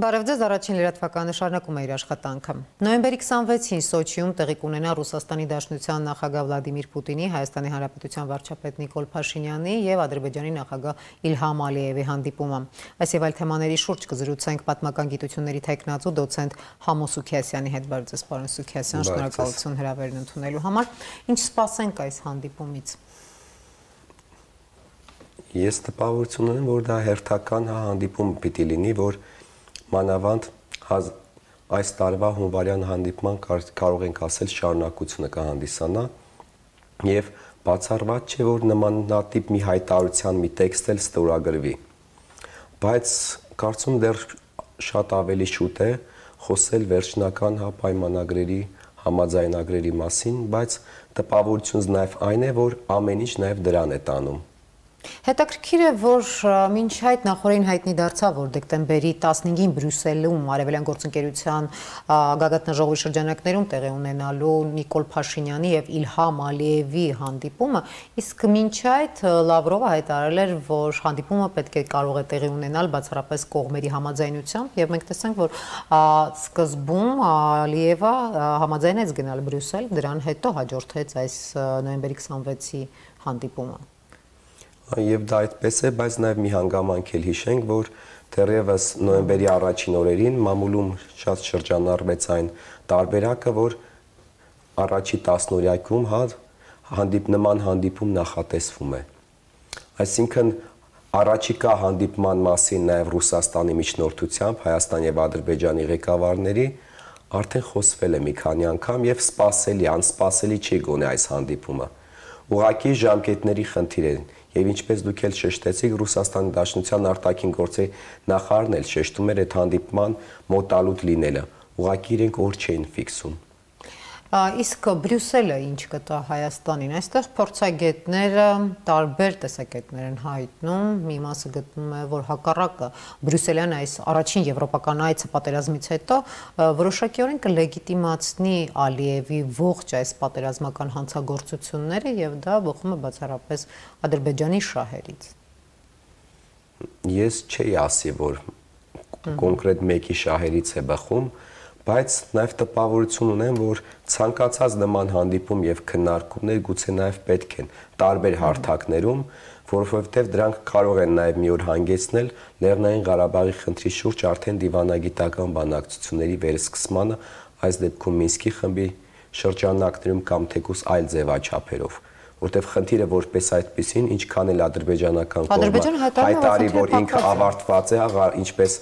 Բարև ձեզ, առաջին լրատվականը շարունակում է իր աշխատանքը։ Նոյեմբերի 26-ին Սոչիում տեղի կունենա Ռուսաստանի Դաշնության նախագահ Վլադիմիր Պուտինի, Հայաստանի Հանրապետության վարչապետ Նիկոլ Փաշինյանի եւ Ադրբեջանի նախագահ Իլհամ Ալիևի հանդիպումը։ Այս եւ այլ թեմաների շուրջ կզրուցենք պատմական գիտությունների թեկնածու դոցենտ Համո Սուքիասյանի հետ։ Բարև ձեզ, պարոն Սուքիասյան, շնորհակալություն հրավերն ընդունելու համար։ Ինչ սպասենք այս հանդիպումից։ Ես տպավորություն ունեմ, որ դա հերթական հանդիպում պիտի լինի, որ մանավանդ այս տարվա հունվարյան հանդիպման կարող ենք ասել շարունակությունը կհանդիսանա եւ բացառված չէ, որ նմանատիպ մի հայտարարության մի տեքստ էլ ստորագրվի։ Բայց կարծում դեռ շատ ավելի շուտ է խոսել վերջնական պայմանագրերի, համաձայնագրերի մասին, բայց տպավորությունս նաեւ այն է, որ ամեն ինչ նաեւ դրան է տանում։ Հետաքրքիր է, որ մինչ այդ նախորդին հայտնի դարձավ, որ դեկտեմբերի 15-ին Բրյուսելում Արևելյան գործընկերության գագաթնաժողովի շրջանակներում տեղի ունենալու Նիկոլ Փաշինյանի եւ Իլհամ Ալիևի հանդիպումը, իսկ մինչ այդ Լավրովը հայտարարել էր, որ հանդիպումը պետք է կարող է տեղի ունենալ բացառապես կողմերի համաձայնությամբ, եւ մենք տեսանք, որ սկզբում Ալիևը համաձայնեց գնալ Բրյուսել, դրան հետո հաջորդեց այս նոյեմբերի 26-ի հանդիպումը։ Եվ դա այդպես է, բայց նաև մի հանգամանք էլ հիշենք, որ դեռևս նոյեմբերի առաջին օրերին մամուլում շատ շրջանառվեց այն տարբերակը, որ առաջի 10-օրյակում նման հանդիպում նախատեսվում է։ Այսինքն առաջիկա հանդիպման մասին նաև Ռուսաստանի միջնորդությամբ Հայաստան եւ Ադրբեջանի ղեկավարների արդեն խոսվել է մի քանի անգամ եւ սպասելի, անսպասելի չի գոնե այս հանդիպումը։ Ուղղակի ժամկետների խնդիր է։ Եվ ինչպես դուք էլ շեշտեցիք, Ռուսաստանի Դաշնության արտաքին գործերի նախարարն էլ շեշտում էր այդ հանդիպման մոտալուտ լինելը։ Ուղղակի իրենք օր չէին ֆիքսում։ Իսկ Բրյուսելը ինչ կտա Հայաստանին։ Այստեղ փորձագետները տարբեր տեսակետներ են հայտնում։ Մի մասը գտնում է, որ հակառակը Բրյուսելյան այս առաջին եվրոպական այցը պատերազմից հետո որոշակիորեն կլեգիտիմացնի Ալիևի ողջ այս պատերազմական հանցագործությունները եւ դա բխում է բացառապես Ադրբեջանի շահերից։ Ես չէի ասի, որ կոնկրետ մեկի շահերից է բխում, բայց նաև տպավորություն ունեմ, որ ցանկացած նման հանդիպում եւ քննարկումներ գուցե նաև պետք են տարբեր հարթակներում, որովհետեւ դրանք կարող են նաև մի օր հանգեցնել Լեռնային Ղարաբաղի խնդրի շուրջ արդեն դիվանագիտական բանակցությունների վերսկսմանը, այս դեպքում Մինսկի խմբի շրջանակներում կամ թեկուզ այլ ձևաչափերով, որտեղ խնդիրը որպես այդպեսին, ինչքան էլ ադրբեջանական կողմը հայտարարի, որ ինքը ավարտված է, ինչպես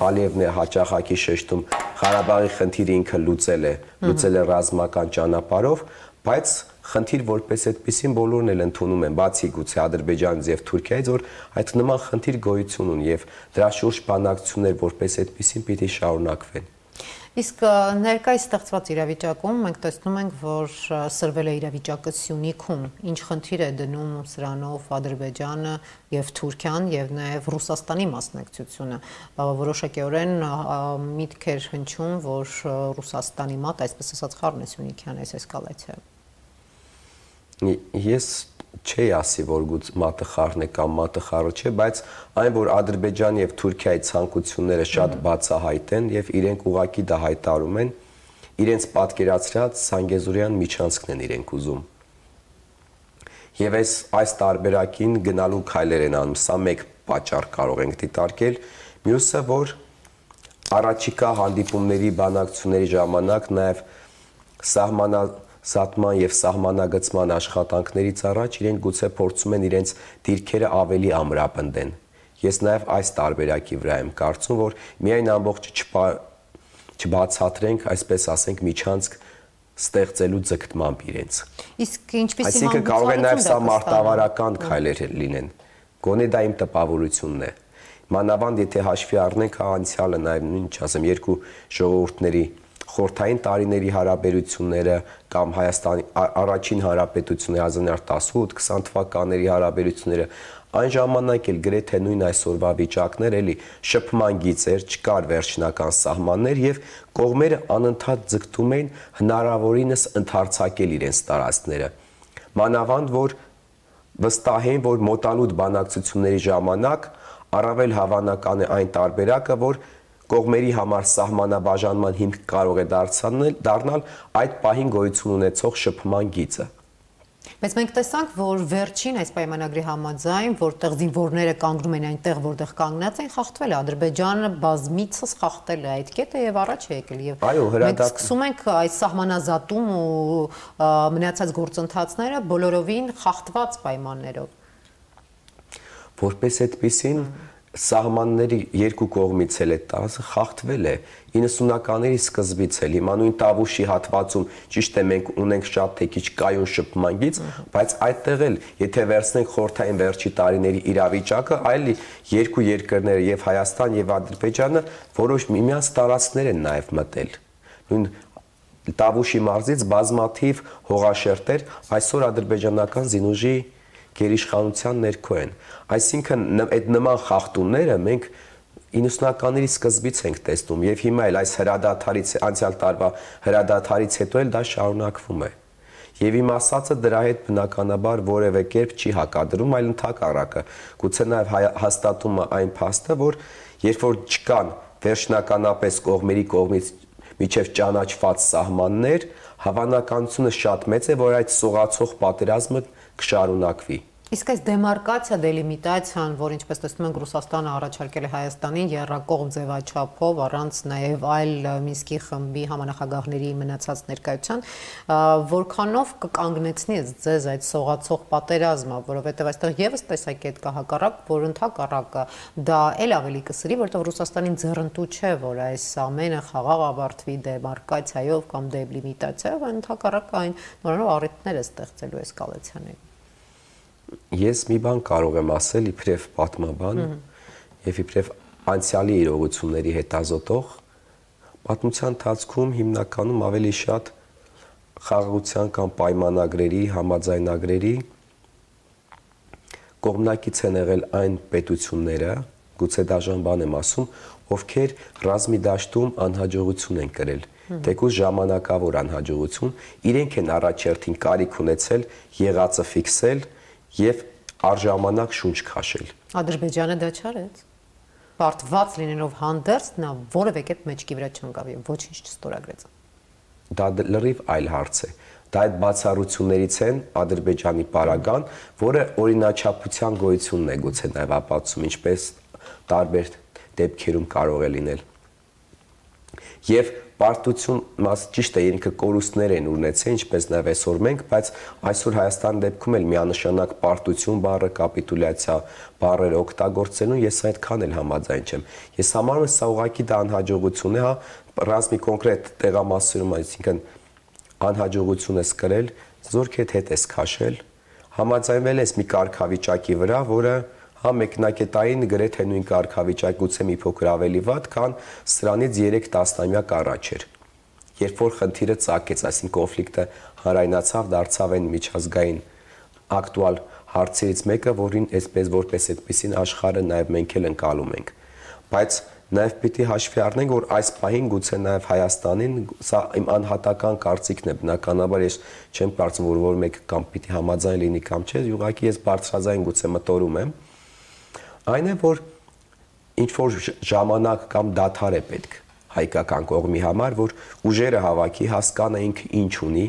Ալիևն է հաճախակի շեշտում, Ղարաբաղի խնդիրը ինքը լուծել է ռազմական ճանապարհով, բայց խնդիր որպես այդպեսին բոլորն էլ ընդունում են, բացի գուցե Ադրբեջանից եւ Թուրքիայից, որ այդ նման խնդիր գոյություն ունի եւ դրա շուրջ բանակցություններ որպես այդպեսին պիտի շարունակվեն։ Իսկ ներկայիս ստեղծված իրավիճակում մենք տեսնում ենք, որ սրվել է իրավիճակը Սյունիքում, ինչ խնդիր է դնում սրանով Ադրբեջանը եւ Թուրքիան եւ նաեւ Ռուսաստանի մասնակցությունը։ Որոշակիորեն միտք էր հնչում, որ Ռուսաստանի մոտ, այսպես ասած, խառն է Սյունիքյան այս էսկալացիա։ Ես չի ասի, որ մատը խառն է կամ մատը խառը չէ, բայց այն, որ Ադրբեջանի եւ Թուրքիայի ցանկությունները շատ բացահայտ են եւ իրենք ուղակի դա հայտարարում են, իրենց պատկերացրած Սանգեզուրյան միջանցքն են իրենք ուզում։ Եվ այս տարբերակին գնալու քայլեր են անում, սա մեկ պատճառ կարող ենք դիտարկել, մյուսը, որ առաջիկա հանդիպումների բանակցությունների ժամանակ նաեւ սահմանան եւ սահմանագծման աշխատանքներից առաջ իրենք գուցե փորձում են իրենց դիրքերը ավելի ամրապնդեն։ Ես նաեւ այս տարբերակի վրա եմ կարծում, որ միայն ամբողջ չբացատրենք, այսպես ասենք, միջանցք ստեղծելու ձգտմամբ իրենց։ Իսկ ինչպեսի Այսինքն կարող է նաեւ սա մարտավարական քայլեր լինեն։ Գոնե դա իմ տպավորությունն է։ Մանավանդ եթե հաշվի առնենք անցյալը նաեւ ինչ ասեմ, երկու ժողովուրդների խորհրդային տարիների հարաբերությունները կամ Հայաստանի առաջին հանրապետությունների 1918-20 թվականների հարաբերությունները, այն ժամանակ էլ գրեթե նույն այսօրվա վիճակներ էլի շփման գիծեր, չկար վերջնական սահմաններ եւ կողմերը անընդհատ ձգտում էին հնարավորինս ընդարձակել իրենց տարածքները։ Մանավանդ որ վստահ էին, որ մոտալուտ բանակցությունների ժամանակ առավել հավանական է այն տարբերակը, որ կողմերի համար սահմանաբաժանման հիմք կարող է դառնալ այդ պահին գոյություն ունեցող շփման գիծը։ Բայց մենք տեսանք, որ վերջին այս պայմանագրի համաձայն, որտեղ զինվորները կանգնում են այնտեղ, որտեղ կանգնած են, խախտվել է Ադրբեջանը բազմիցս խախտել է այդ կետը եւ առաջ է եկել եւ մենք սկսում ենք այս սահմանազատում ու մնացած գործընթացները բոլորովին խախտված պայմաններով։ Որպես այդպեսին սահմանների երկու կողմից էլ է տասը խախտվել է 90-ականների սկզբից էլ հիմա նույն Տավուշի հատվածում ճիշտ է մենք ունենք շատ թե քիչ կայուն շփման գիծ, բայց այդտեղ էլ եթե վերցնենք խորհրդային վերջի տարիների իրավիճակը, այլ երկու երկրները եւ Հայաստան եւ Ադրբեջանը որոշ միմյանց տարածքներ են նաեւ մտել։ Նույն Տավուշի մարզից բազմաթիվ հողաշերտեր այսօր ադրբեջանական զինուժի գերիշխանության ներքո են։ Այսինքն այդ նման խախտումները մենք 90-ականների սկզբից ենք տեսնում եւ հիմա էլ այս հրադադարից անցյալ տարվա հրադադարից հետո էլ դա շարունակվում է։ Եվ իմ ասածը դրա հետ բնականաբար որևէ կերպ չի հակադրում, այլ ընդհակառակը։ Գուցե նաեւ հաստատում է այն փաստը, որ երբ որ չկան վերջնականապես կողմերի կողմից միջև ճանաչված սահմաններ, հավանականությունը շատ մեծ է, որ այդ սողացող պատերազմը կշարունակվի։ Իսկ այս դեմարկացիա, դելիմիտացիան, որ ինչպես տեսնում ենք Ռուսաստանը առաջարկել է Հայաստանին եռակողմ ձևաչափով, առանց նաև այլ Մինսկի խմբի համանախագահների մնացած ներկայության, որքանով կկանգնեցնի ձեզ այդ սողացող պատերազմը, որովհետև այստեղ եւս տեսակետ կա հակառակ, որ ընդհակառակը դա էլ ավելի կսրի, որտեղ Ռուսաստանին ձեռնտու չէ, որ այս ամենը խաղաղ ավարտվի դեմարկացիայով կամ դելիմիտացիայով, ընդհակառակը այն նորանով առիթներ է ստեղծելու էսկալացիաների։ Ես մի բան կարող եմ ասել իբրև պատմաբան եւ իբրև անցյալի իրողությունների հետազոտող, պատմության ընթացքում հիմնականում ավելի շատ խաղաղության կամ պայմանագրերի, համաձայնագրերի կողմնակից են եղել այն պետությունները, գուցե դաժան բան եմ ասում, ովքեր ռազմի դաշտում անհաջողություն են կրել, թեկուզ ժամանակավոր անհաջողություն, իրենք են առաջերտին կարիք ունեցել եղածը ֆիքսել եւ արժամանակ շունչ քաշել։ Ադրբեջանը դա չարեց։ Պարտված լինելով հանդերձ նա որևէ կերպ մեջքի վրա չընկավ եւ ոչինչ չստորագրեց։ Դա լրիվ այլ հարց է։ Դա այդ բացառություններից են Ադրբեջանի պարագան, որը օրինաչափության գոյությունն է գուցե նաեւ ապացուցում, ինչպես տարբեր դեպքերում կարող է լինել։ Եվ պարտություն ճիշտ է ինքը կորուստներ են ունեցել, ինչպես նաև այսօր մենք, բայց այսօր Հայաստանի դեպքում էլ միանշանակ պարտություն բառը, կապիտուլյացիա բառերը օգտագործելուն ես այդքան էլ համաձայն չեմ։ Ես համարում եմ սա ուղղակի դա անհաջողություն է, հա, ռազմի կոնկրետ տեղամասերում, այսինքն անհաջողություն ես կրել, զորքեդ հետ ես քաշել, համաձայնվել ես մի կարգավիճակի վրա, որը հա մեկնակետային գրեթե նույն կարգավիճակ գուցե մի փոքր ավելի վատ, քան սրանից 3 տասնամյակ առաջ էր։ Երբ որ խնդիրը ծագեց, այսինքն կոնֆլիկտը հանրայնացավ, դարձավ այն միջազգային ակտուալ հարցերից մեկը, որին այսպես որպես այդպեսին աշխարհը նաև մենք էլ ընկալում ենք։ Բայց նաև պիտի հաշվի առնենք, որ այս պահին գուցե նաև Հայաստանին, սա իմ անհատական կարծիքն է, բնականաբար ես չեմ կարծում, որ մեկը կամ պիտի համաձայն լինի կամ չէ, ուղղակի ես բարձրաձայն գուցե մտորում եմ։ Այն է, որ ինչ-որ ժամանակ կամ դադար է պետք հայկական կողմի համար, որ ուժերը հավաքի, հասկանա ինքը ինչ ունի,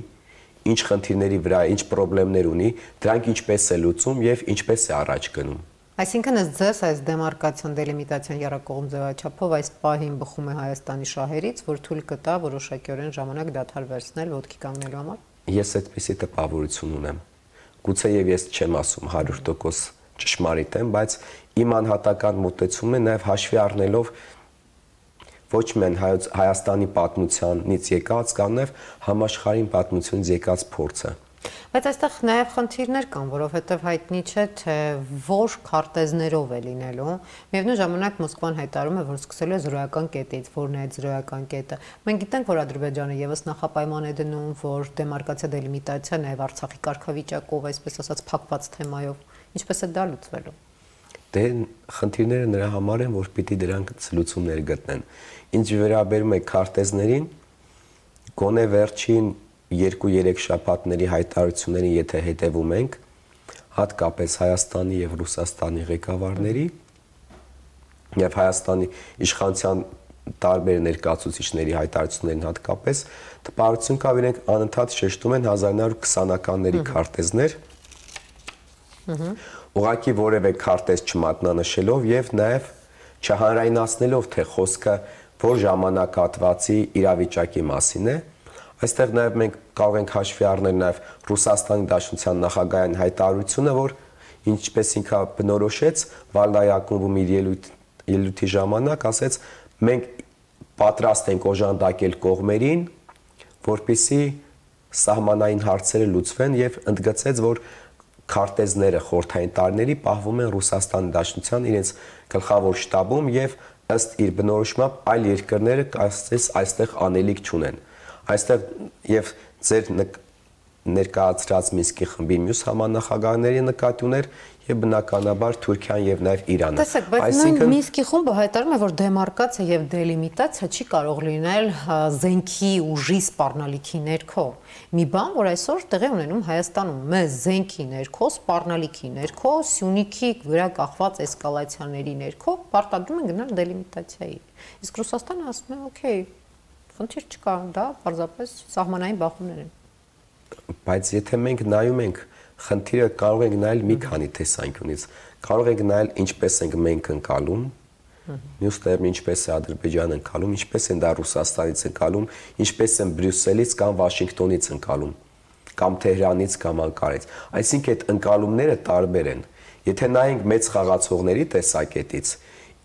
ինչ խնդիրների վրա, ինչ խնդիրներ ունի, դրանք ինչպես է լուծում եւ ինչպես է առաջ գնում։ Այսինքն ըստ ձեզ այս դեմարկացիան, դելիմիտացիան եռակողմ ձևաչափով այս պահին բխում է Հայաստանի շահերից, որ թույլ կտա որոշակիորեն ժամանակ դադար վերցնել ոտքի կանգնելու համար։ Ես այդպիսի տպավորություն ունեմ։ Գուցե եւ ես չեմ ասում 100% ճշմարիտ եմ, բայց իմ անհատական մոտեցումն է նաև հաշվի առնելով ոչ միայն Հայաստանի պատմությանից եկած, կամ նաև համաշխարհային պատմությունից եկած փորձը։ Բայց այստեղ նաև խնդիրներ կան, որովհետև հայտնի չէ, թե որ քարտեզներով է լինելու։ Միևնույն ժամանակ Մոսկվան հայտարարում է, որ սկսելու է զրոյական կետից, որն է այդ զրոյական կետը։ Մենք գիտենք, որ Ադրբեջանը եւս նախապայման է դնում, որ դեմարկացիա, դելիմիտացիա նաև Արցախի կարգավիճակով, այսպես ասած, փակված թեմայով, ինչպես է դա լուծվելու։ Դե խնդիրները նրա համար են, որ պիտի դրանք լուծումներ գտնեն։ Ինչ վերաբերում է քարտեզներին, գոնե վերջին 2-3 շաբաթների հայտարարություններին, եթե հետևում ենք, հատկապես Հայաստանի եւ Ռուսաստանի ղեկավարների եւ Հայաստանի իշխանության տարբեր ներկայացուցիչների հայտարարություններին հատկապես տպավորություն կա, իրենք անընդհատ շեշտում են 1920-ականների քարտեզներ, ուղղակի որևէ քարտեզ չմատնանշելով եւ նաեւ չհանրայնացնելով, թե խոսքը որ ժամանակահատվածի իրավիճակի մասին է։ Այստեղ նաեւ մենք կարող ենք հաշվի առնել նաեւ Ռուսաստանի Դաշնության նախագահային հայտարարությունը, որ ինչպես ինքը բնորոշեց Վալդայի ակումբում իր ելույթի ժամանակ, ասեց մենք պատրաստ ենք օժանդակել կողմերին, որպեսզի սահմանային հարցերը լուծվեն եւ ընդգծեց, որ քարտեզները խորհրդային տարիների պահվում են Ռուսաստանի Դաշնության իրենց գլխավոր շտաբում եւ ըստ իր բնորոշմամբ այլ երկրները ասես այստեղ անելիք չունեն։ Այստեղ եւ ձեր ներկայացրած Մինսկի խմբի մյուս համանախագահների նկատի ուներ եւ բնականաբար Թուրքիան եւ նաեւ Իրանը։ Տեսեք, բայց նույն Մինսկի խումբը հայտարարում է, որ դեմարկացիա եւ դելիմիտացիա չի կարող լինել զենքի ուժի սպառնալիքի ներքո։ Մի բան, որ այսօր տեղի ունենում Հայաստանում, մեզ զենքի ներքո, սպառնալիքի ներքո, Սյունիքի վրա կախված էսկալացիաների ներքո պարտադրում են գնալ դելիմիտացիայի։ Իսկ Ռուսաստանը ասում է, օքեյ, խնդիր չկա, դա պարզապես սահմանային բախումներ են։ Բայց եթե մենք նայում ենք, խնդիրը կարող ենք նայել մի քանի տեսանկյունից։ Կարող ենք նայել ինչպես ենք մենք ընկալում, մյուս տեղում ինչպես է Ադրբեջանը ընկալում, ինչպես են դա Ռուսաստանից ընկալում, ինչպես են Բրյուսելից կամ Վաշինգտոնից ընկալում, կամ Թեհրանից կամ Անկարայից։ Այսինքն այդ ընկալումները տարբեր են։ Եթե նայենք մեծ խաղացողների տեսակետից,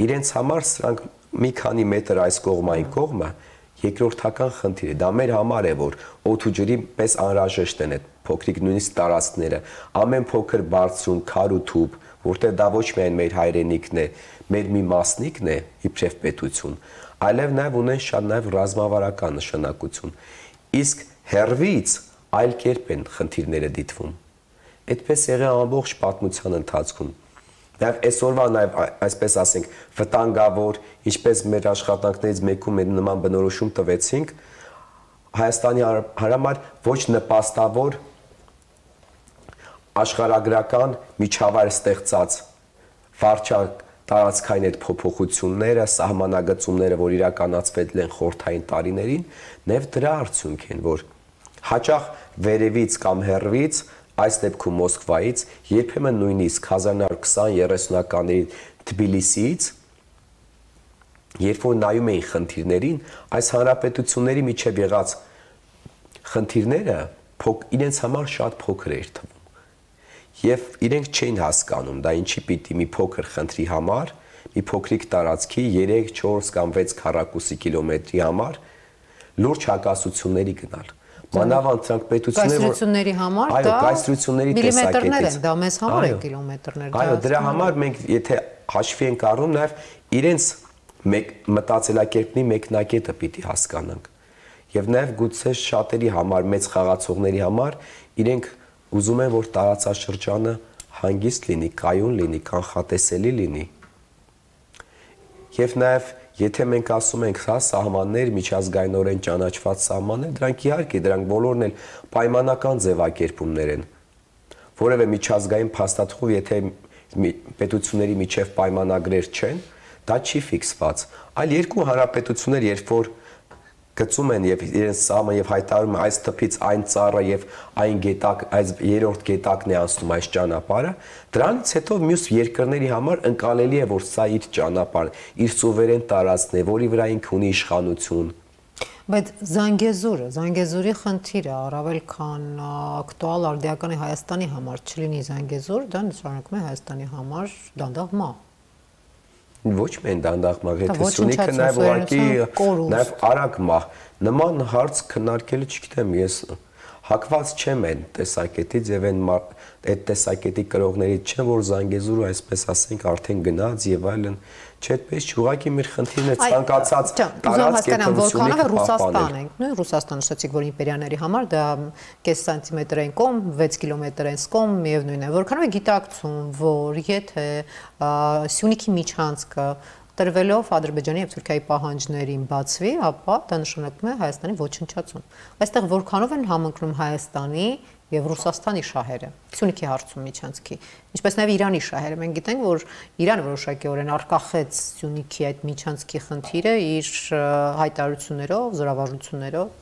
իրենց համար սրանք մի քանի մետր այս կողմ այն կողմը երկրորդական խնդիր է։ Դա մեր համար է, որ օդ ու ջրի պես անհրաժեշտ են այդ փոքրիկ նույնիսկ տարածքները, ամեն փոքր բարձրում, քար ու թուփ, որտեղ դա ոչ միայն մեր հայրենիքն է, մեր մի մասնիկն է, իբրև պետություն, այլև նաև ունեն շատ նաև ռազմավարական նշանակություն։ Իսկ հերվից այլ կերպ են խնդիրները դիտվում։ Այդպես եղել ամբողջ պատմության ընթացքում։ Նաև այսօրվա նաև այսպես ասենք վտանգավոր, ինչպես մեր աշխատանքներից մեկում մեր նման բնորոշում տվեցինք, Հայաստանի համար ոչ նպաստավոր աշխարհագրական միջավայր ստեղծած վարչակ տարածքային այդ փոփոխությունները, սահմանագծումները, որ իրականացվել են խորհրդային տարիներին, նաև դրա արդյունք են, որ հաճախ վերևից կամ հեռվից այս դեպքում Մոսկվայից, երբեմն նույնիսկ 1920-30-ականների Թբիլիսիից, երբ որ նայում էին խնդիրներին, այս հանրապետությունների միջև եղած խնդիրները իրենց համար շատ փոքր էր թվում։ Եվ իրենք չէին հասկանում, դա ինչի պիտի մի փոքր խնդրի համար, մի փոքրիկ տարածքի 3, 4 կամ 6 քառակուսի կիլոմետրի համար լուրջ հակասությունների գնալ։ Մանավանդ դրանք պետությունների համար դա կայսրությունների միլիմետրներ են, դա մեզ համար է կիլոմետրներ։ Այո, դրա համար մենք եթե հաշվի ենք առնում, նաև իրենց մտածելակերպի մեկնակետը պիտի հասկանանք։ Եվ նաև գուցե շատերի համար, մեծ խաղացողների համար իրենք ուզում են, որ տարածաշրջանը հանգիստ լինի, կայուն լինի, կանխատեսելի լինի։ Եվ նաև եթե մենք ասում ենք, հա, սահմաններ, միջազգայինորեն ճանաչված սահմաններ, դրանք իհարկե, դրանք բոլորն էլ պայմանական ձևակերպումներ են։ Որևէ միջազգային փաստաթղթով, եթե պետությունների միջև պայմանագրեր չեն, դա չի ֆիքսված։ Այլ երկու հանրապետություններ, երբ որ գծում են եւ իրենց սահմանը եւ հայտարարում այս թփից այն ծառը եւ այն գետակ, այս երրորդ գետակն է անցնում այս ճանապարհը, դրանից հետո մյուս երկրների համար ընկալելի է, որ սա իր ճանապարհն, իր սուվերեն տարածքն է, որի վրա ինքը ունի իշխանություն։ Բայց Զանգեզուրի խնդիրը առավել քան ակտուալ արդիական է Հայաստանի համար, չլինի Զանգեզուր, դա նշանակում է Հայաստանի համար դանդաղ մահ։ Ոչ միայն դանդաղ մահ, եթե Սյունիքը նաև ուղղակի նաև արագ մահ։ Նման հարց քննարկելը չգիտեմ, ես հակված չեմ այն տեսակետից եւ այդ տեսակետի կրողներից չեմ, որ Զանգեզուրը այսպես ասենք արդեն գնաց եւ այլն, չէ, այդպես չուղղակի մեր խնդիրն է ցանկացած տարածքներով Ռուսաստան ենք, նույն Ռուսաստանը նշեցիք, որ իմպերիաների համար դա կես սանտիմետր են կողմ, 6 կիլոմետր են կողմ, միևնույն է, որքանով է գիտակցում, որ եթե Սյունիքի միջանցքը տրվելով Ադրբեջանի եւ Թուրքիայի պահանջներին բացվի, ապա դա նշանակում է Հայաստանի ոչնչացում։ Այստեղ որքանով են համընկնում Հայաստանի եւ Ռուսաստանի շահերը։ Սյունիքի հարցում միջանցքի, ինչպես նաեւ Իրանի շահերը։ Մենք գիտենք, որ Իրանը որոշակիորեն արկախեց Սյունիքի այդ միջանցքի խնդիրը իր հայտարարություններով, զորավարժություններով։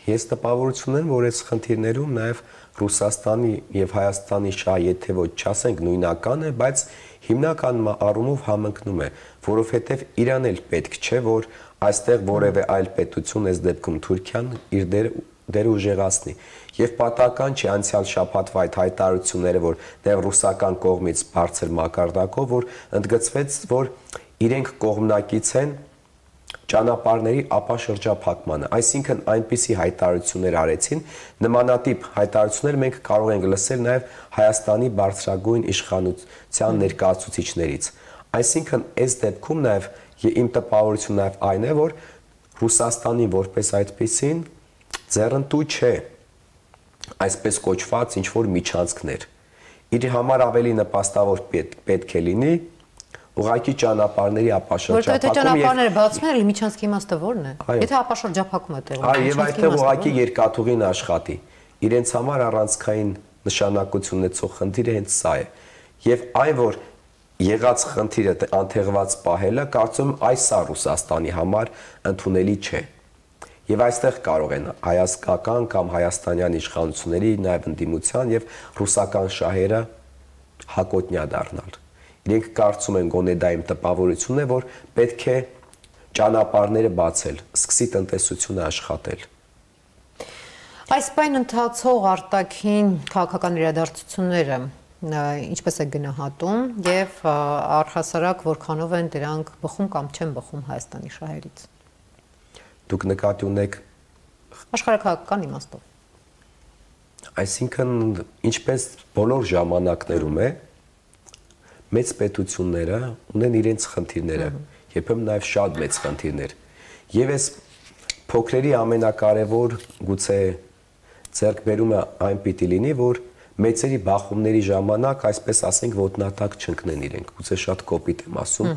Ես տպավորություն եմ, որ այս խնդիրներում նաեւ Ռուսաստանի եւ Հայաստանի շահը, եթե ոչ չասենք նույնական է, բայց հիմնական առումով համընկնում է, որովհետեւ Իրանն էլ պետք չէ, որ այստեղ որևէ այլ պետություն, այս դեպքում Թուրքիան, իր դերը ուժեղացնի։ Եվ պատահական չի անցյալ շաբաթվա այդ հայտարարությունները, որ դեռ ռուսական կողմից բարձր մակարդակով, որ ընդգծվեց, որ իրենք կողմնակից են ճանապարհների ապաշրջափակմանը, այսինքն այնպիսի հայտարարություններ արեցին, նմանատիպ հայտարարություններ մենք կարող ենք լսել նաև Հայաստանի բարձրագույն իշխանության ներկայացուցիչներից։ Այսինքն այս դեպքում նաև իմ տպավորությունը նաև այն է, որ Ռուսաստանի որպես այդպիսին ձեռնտու չէ այսպես կոչված ինչ-որ միջանցքներ։ Իր համար ավելի նպաստավոր պետք է լինի ուղղակի ճանապարհների ապաշրջափակում։ Որտեղ ճանապարհները բացվում են, միջանցքի իմաստը ո՞րն է։ Եթե ապաշրջափակում է տեղում։ Այո, եւ այդտեղ ուղղակի երկաթուղին աշխատի։ Իրենց համար առանցքային նշանակություն ունեցող խնդիրը հենց սա է։ Եվ այն, որ եղած խնդիրը անթեղված պահելը, կարծում եմ այս է Ռուսաստանի համար ընդունելի չէ։ Եվ այստեղ կարող են հայաստանական կամ հայաստանյան իշխանությունների նաև ընդդիմության եւ ռուսական շահերը հակոտնյա դառնալ։ Իրենք կարծում են գոնե դա իմ տպավորությունն է, որ պետք է ճանապարհները բացել, սկսի տնտեսությունը աշխատել։ Այս պայն ընթացող արտաքին քաղաքական իրադարձությունները ինչպես է գնահատում եւ առհասարակ որքանով են դրանք բխում կամ չեն բխում Հայաստանի շահերից։ Դուք նկատի ունեք աշխարհակաղակական իմաստով։ Այսինքն ինչպես բոլոր ժամանակներում է մեծ պետությունները ունեն իրենց խնդիրները, երբեմն նաև շատ մեծ խնդիրներ։ Եվ այս փոքրերի ամենակարևոր գուցե ձեռքբերումը այն պիտի լինի, որ մեծերի բախումների ժամանակ, այսպես ասենք, ոտնատակ չընկնեն իրենք, գուցե շատ կոպիտ եմ ասում,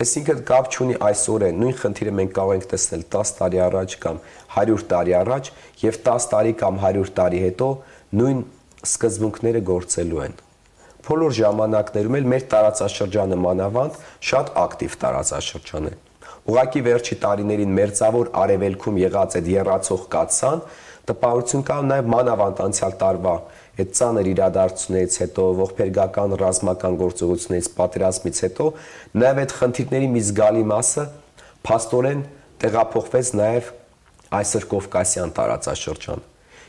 այսինքն կապ չունի այսօր է, նույն խնդիրը մենք կարող ենք տեսնել 10 տարի առաջ կամ 100 տարի առաջ եւ 10 տարի կամ 100 տարի հետո նույն սկզբունքները գործելու են։ Բոլոր ժամանակներում էլ մեր տարածաշրջանը մանավանդ շատ ակտիվ տարածաշրջան է։ Ուղղակի վերջի տարիներին մերձավոր արևելքում եղած այդ եռացող կաթսան տպավորություն կա նաև մանավանդ անցյալ տարվա այդ ծանր իրադարձություններից հետո, ողբերգական ռազմական գործողություններից, պատերազմից հետո նաև այդ խնդիրների մի զգալի մասը փաստորեն տեղափոխվեց նաև այսօր Կովկասյան տարածաշրջան։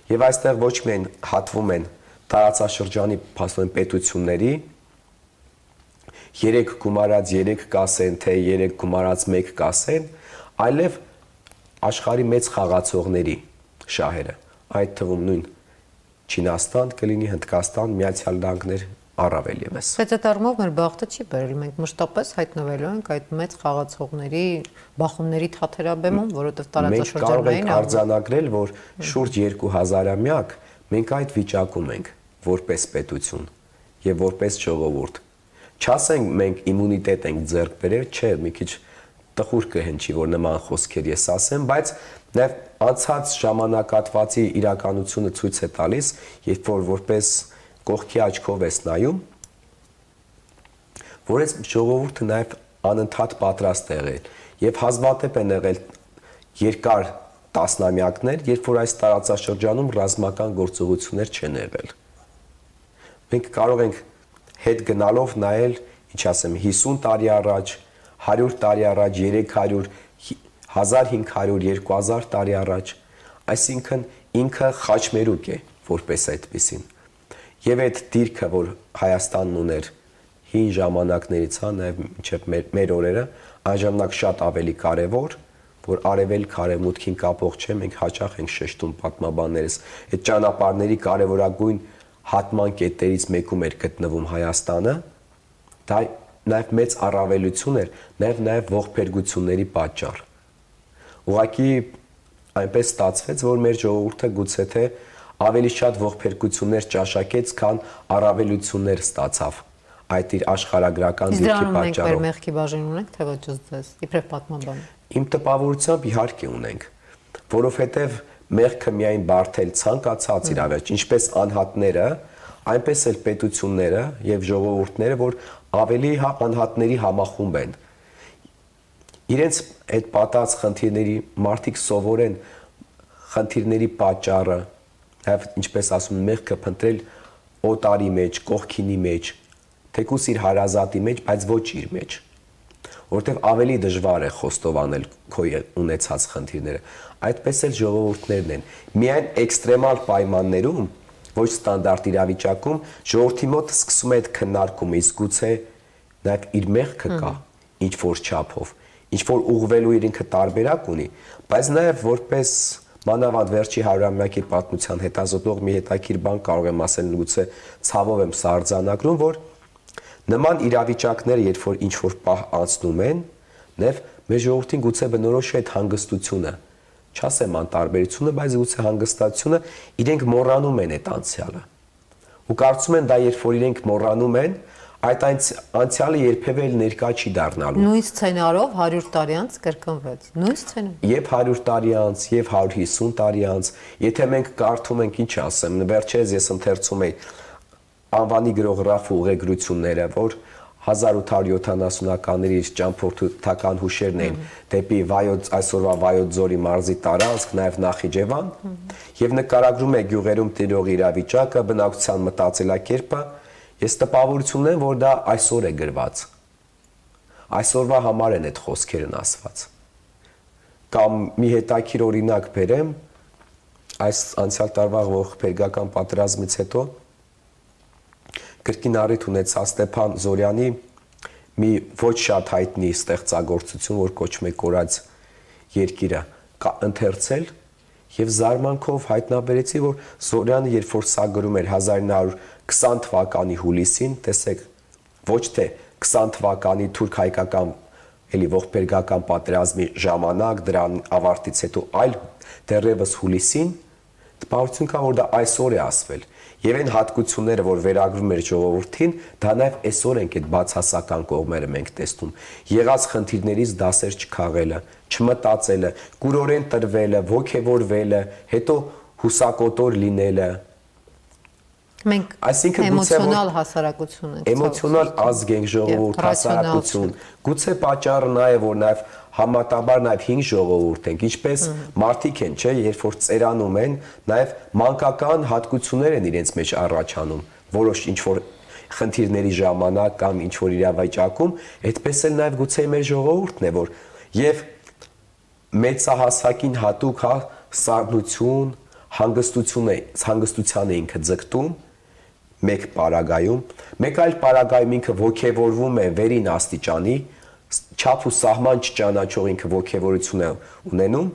Եվ այստեղ ոչ միայն հատվում են տարածաշրջանի փաստորեն պետությունների 3 գումարած 3 կասեն, թե 3 գումարած 1 կասեն, այլև աշխարհի մեծ խաղացողների շահերը, այդ թվում նույն Չինաստան կլինի, Հնդկաստան, Միացյալ Նահանգներ առավել եւս։ Բայց այդ առումով մեր բախտը չի բերել, մենք մշտապես հայտնվելու ենք այդ մեծ խաղացողների բախումների թաթերաբեմում, որովհետև տարածաշրջանային արձանագրել, որ շուրջ 2000-ամյակ մենք այդ վիճակում ենք որպես պետություն եւ որպես ժողովուրդ։ Չասենք մենք իմունիտետ ենք ձեռք բերել, չէ, մի քիչ տխուր կհնչի, որ նման խոսքեր ես ասեմ, բայց նաև անցած ժամանակատվածի իրականությունը ցույց է տալիս, երբ որ որպես կողքի աչքով ես նայում, որ այս ժողովուրդը նաև անընդհատ պատրաստ է եղել եւ հազվադեպ են եղել երկար տասնամյակներ, երբ որ այս տարածաշրջանում ռազմական գործողություններ չեն եղել։ Մենք կարող ենք հետ գնալով նայել, ինչ ասեմ, 50 տարի առաջ, 100 տարի առաջ, 300, 1500, 2000 տարի առաջ, այսինքն ինքը խաչմերուկ է, որպես այդպեսին։ Եվ այդ դիրքը, որ Հայաստանն ուներ հին ժամանակներից, հա, նաև մինչև մեր օրերը, այն ժամանակ շատ ավելի կարևոր, որ արևելք արևմուտքին կապող չէ, մենք հաճախ ենք շեշտում պատմաբաններս, այդ ճանապարհների կարևորագույն հատման կետերից մեկում էր գտնվում Հայաստանը, դա նաև մեծ առավելություն էր, նաև ողբերգությունների պատճառ։ Ուղղակի այնպես ստացվեց, որ մեր ժողովուրդը գուցե թե ավելի շատ ողբերգություններ ճաշակեց, քան առավելություններ ստացավ այդ իր աշխարհագրական դիրքի պատճառով։ Իսկ դրանով մենք մեղքի բաժին ունենք, թե ոչ ձեզ, իբրև պատմաբան։ Իմ տպավորությամբ իհարկե ունենք, որովհետև մեղքը միայն բարթել ցանկացած իրավիճակ, ինչպես անհատները, այնպես էլ պետությունները եւ ժողովուրդները, որ ավելի անհատների համախումբ են։ Իրենց այդ պատած խնդիրների մարդիկ սովորեն խնդիրների պատճառը, եւ ինչպես ասում են, մեղքը փնտրել օտարի մեջ, կողքինի մեջ, թեկուս իր հարազատի մեջ, բայց ոչ իր մեջ, որտեղ ավելի դժվար է խոստովանել քո ունեցած խնդիրները։ Այդպես էլ ժողովուրդներն են։ Միայն էքստրեմալ պայմաններում, ոչ ստանդարտ իրավիճակում, ժողովրդի մոտ սկսում է այդ քննարկումը, իսկ գուցե նաեւ իր մեղքը կա ինչ որ չափով, ինչ որ ուղղվելու իր ինքը տարբերակ ունի, բայց նաեւ որպես մանավանդ վերջի 100-ամյակի պատմության հետազոտող մի հետաքրքիր բան կարող եմ ասել, գուցե ցավով եմ սա արձանագրում, որ նման իրավիճակները, երբ որ ինչ որ պահ անցնում են, նաև մեր ժողովրդին գուցե բնորոշ է այդ հանգստությունը, չասեմ անտարբերությունը, բայց գուցե հանգստությունը, իրենք մոռանում են այդ անցյալը։ Ու կարծում են դա, երբ որ իրենք մոռանում են, այդ անցյալը երբևէ ներկա չի դառնալու։ Նույն սցենարով 100 տարի անց կրկնվեց։ Նույն սցենարով։ Եվ 100 տարի անց, եւ 150 տարի անց, եթե մենք կարդում ենք, ինչ ասեմ, վերջերս ես ընթերցում էի անվանի գրող Ռաֆ ուղեգրությունները, որ 1870-ականների ճամփորդական հուշերն էին դեպի այսօրվա Վայոց ձորի մարզի տարածք, նաև Նախիջևան, եւ նկարագրում է գյուղերում տիրող իրավիճակը, բնակչության մտածելակերպը, ես տպավորություն ունեմ, որ դա այսօր է գրված։ Այսօրվա համար են այդ խոսքերն ասված։ Կամ մի հետաքրքիր օրինակ բերեմ, այս անցյալ տարվա ողբերգական պատերազմից հետո կրկին առիթ ունեցա Ստեփան Զորյանի մի ոչ շատ հայտնի ստեղծագործություն, որ կոչվում է Կորած երկիրը, ընթերցել եւ զարմանքով հայտնաբերեցի, որ Զորյանը երբ որ սա գրում էր 1920 թվականի հուլիսին, տեսեք, ոչ թե 20 թվականի թուրք-հայկական էլի ողբերգական պատերազմի ժամանակ, դրան ավարտից հետո, այլ դեռևս հուլիսին, տպավորություն կա, որ դա այսօր է ասվել։ Եվ այն հատկությունները, որ վերագրում էր ժողովրդին, դա նաև այսօր ենք այդ բացասական կողմերը մենք տեսնում։ Եղած խնդիրներից դասեր չքաղելը, չմտածելը, կուրորեն տրվելը, ոգևորվելը, հետո հուսակոտոր լինելը։ Մենք էմոցիոնալ հասարակություն ենք։ Էմոցիոնալ ազգ ենք, ժողովուրդ, հասարակություն։ Գուցե պատճառը նա է, որ նաև համատաբար նաև 5 ժողովուրդ ենք, ինչպես մարդիկ են, չէ, երբ որ ծերանում են, նաև մանկական հատկություններ են իրենց մեջ առաջանում, որոշ ինչ որ խնդիրների ժամանակ կամ ինչ որ իրավիճակում, այդպես էլ նաև գուցե մեր ժողովուրդն է, որ եւ մեծահասակին հատուկ սառնություն, հանգստության է ինքը ձգտում մեկ պարագայում, մեկ այլ պարագայում ինքը ոգևորվում է վերին աստիճանի, չափ ու սահման չճանաչող ինքը ոգևորություն է ունենում,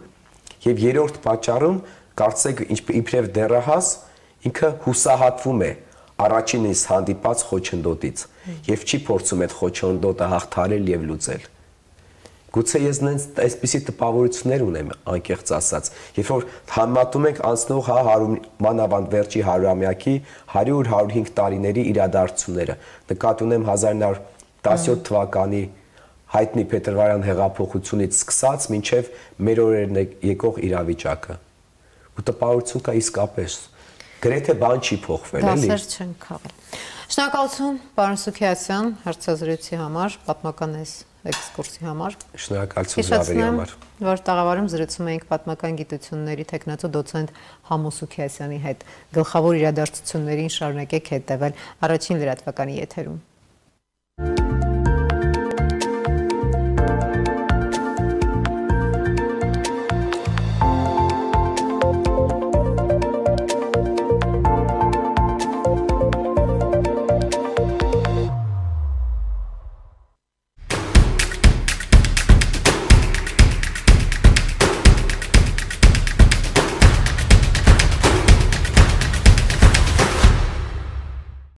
եւ երրորդ պատճառում կարծեք իբրև դեռահաս ինքը հուսահատվում է առաջինից հանդիպած խոչընդոտից եւ չի փորձում այդ խոչընդոտը հաղթարել եւ լուծել։ Գուցե ես նենց այսպիսի տպավորություններ ունեմ, անկեղծ ասած, երբ որ համատում ենք անցնող մանավանդ վերջի 100-ամյակի 100-105 տարիների իրադարձությունները, նկատի ունեմ 1917 թվականի հայտնի Փետրվարյան հեղափոխությունից սկսած մինչև մեր օրերն եկող իրավիճակը։ Ու տպավորություն կա իսկապես, գրեթե բան չի փոխվել, էլի։ Դասեր չեն քաղել։ Շնորհակալություն, պարոն Սուքիասյան, հարցազրույցի համար, պատմական էքսկուրսի համար։ Շնորհակալություն Զավերի համար։ Որ տաղավարում զրուցում էինք պատմական գիտությունների թեկնածու դոցենտ Համո Սուքիասյանի հետ։ Գլխավոր իրադարձություններին շարունակեք հետևել առաջին լրատվականի եթերում։